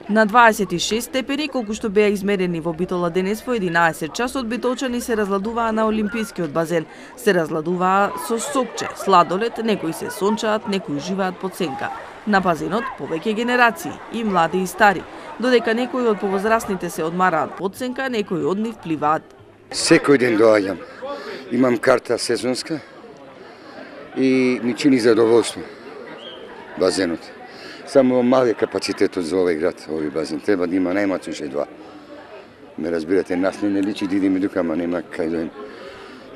На 26 степени, колку што беа измерени во Битола денес во 11 часот, битолчани се разладуваа на Олимпискиот базен. Се разладуваа со сокче, сладолед, некои се сончаат, некои уживаат под сенка. На базенот повеќе генерации, и млади и стари, додека некои од повозрасните се одмараат под сенка, некои од нив пливаат. Секој ден доаѓам. Имам карта сезонска и ми чини задоволство базенот. Само мали капацитетот за овој град, овој базен. Треба да има најмалку 2. Ме разбирате, нас не личи да идеме дука, ама нема кај да.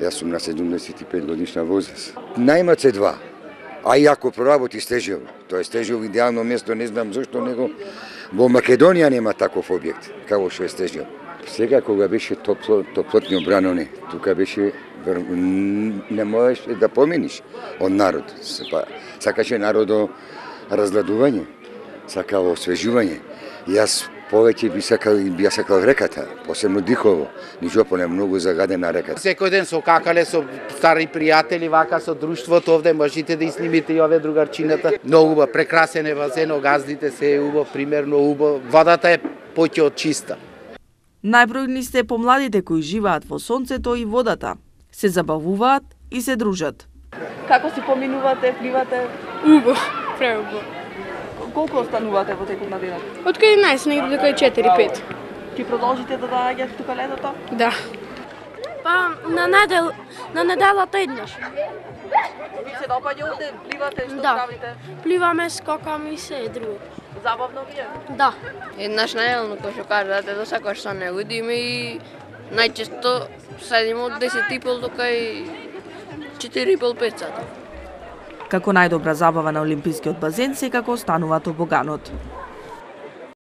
Јас сум на 75 годишна возраст. Најмалку 2. А и ако проработи Стежев, тоа е Стежев идеално место, не знам зашто него во Македонија нема таков објект, како што е Стежев. Сега кога беше топлотни обраноне, тука беше не можеш да помениш од народ. Сакаше народо разгладување, сакало освежување. Јас повеќе би сакал реката, посебно Дихово, Нижопол е многу загадена река. Секој ден со какале, со стари пријатели, вака со друштвото овде, можете да изнимите и ове другарчината. Многу убав, прекрасен е базен, газдите се е убав, примерно убав. Водата е поќе од чиста. Најбројни се помладите кои живеат во сонцето и водата. Се забавуваат и се дружат. Како си поминувате, пливате? Убаво, преубаво. Колку останувате во текот на денот? Од кај 11 негде до кај 4-5. Ќе продолжите да доаѓате тука летото? Да. Па на неделата еднаш. Ви се допаѓа овде, пливате, што правите? Пливаме, скокаме и се друго. Забавно ви е? Да. Еднаш најелно, кој што кажате, да сакаш со него идиме и најчесто седиме од 10:30 до кај 4:30-5 сата. Како најдобра забава на Олимпискиот базен секако останува тобоганот.